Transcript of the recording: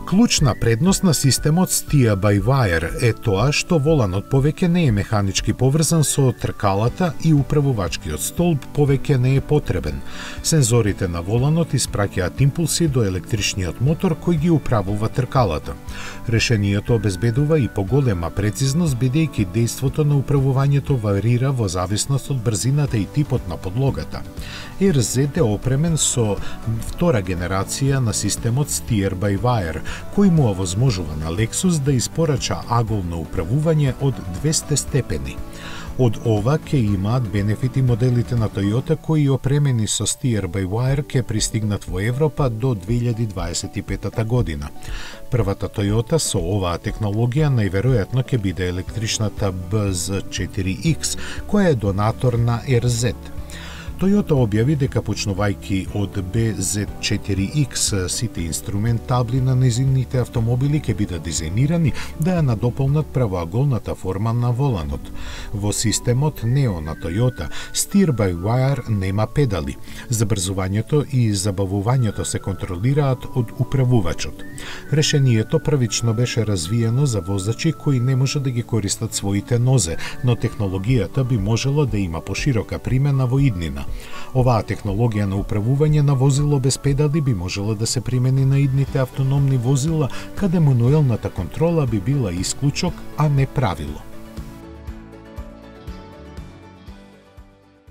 Клучна предност на системот Steer-by-Wire е тоа што воланот повеќе не е механички поврзан со тркалата и управувачкиот столб повеќе не е потребен. Сензорите на воланот испраќаат импулси до електричниот мотор кој ги управува тркалата. Решението обезбедува и поголема прецизност бидејќи дејството на управувањето варира во зависност од брзината и типот на подлогата. RZ е опремен со втора генерација на системот Steer-by-Wire, кој му овозможува на Lexus да испорача аголно управување од 200 степени. Од ова ќе имаат бенефити моделите на Toyota кои опремени со Steer-by-Wire ќе пристигнат во Европа до 2025 година. Првата Toyota со оваа технологија најверојатно ќе биде електричната BZ4X, која е донатор на RZ. Toyota објави дека почнувајќи од BZ4X сите инструмент табли на незините автомобили ќе бидат дизајнирани да ја надополнат правоаголната форма на воланот. Во системот Neo на Toyota, Steer-by-Wire нема педали. Забрзувањето и забавувањето се контролираат од управувачот. Решението првично беше развиено за возачи кои не може да ги користат своите нозе, но технологијата би можела да има поширока примена во иднина. Оваа технологија на управување на возило без педали би можела да се примени на идните автономни возила, каде мануелната контрола би била исклучок, а не правило.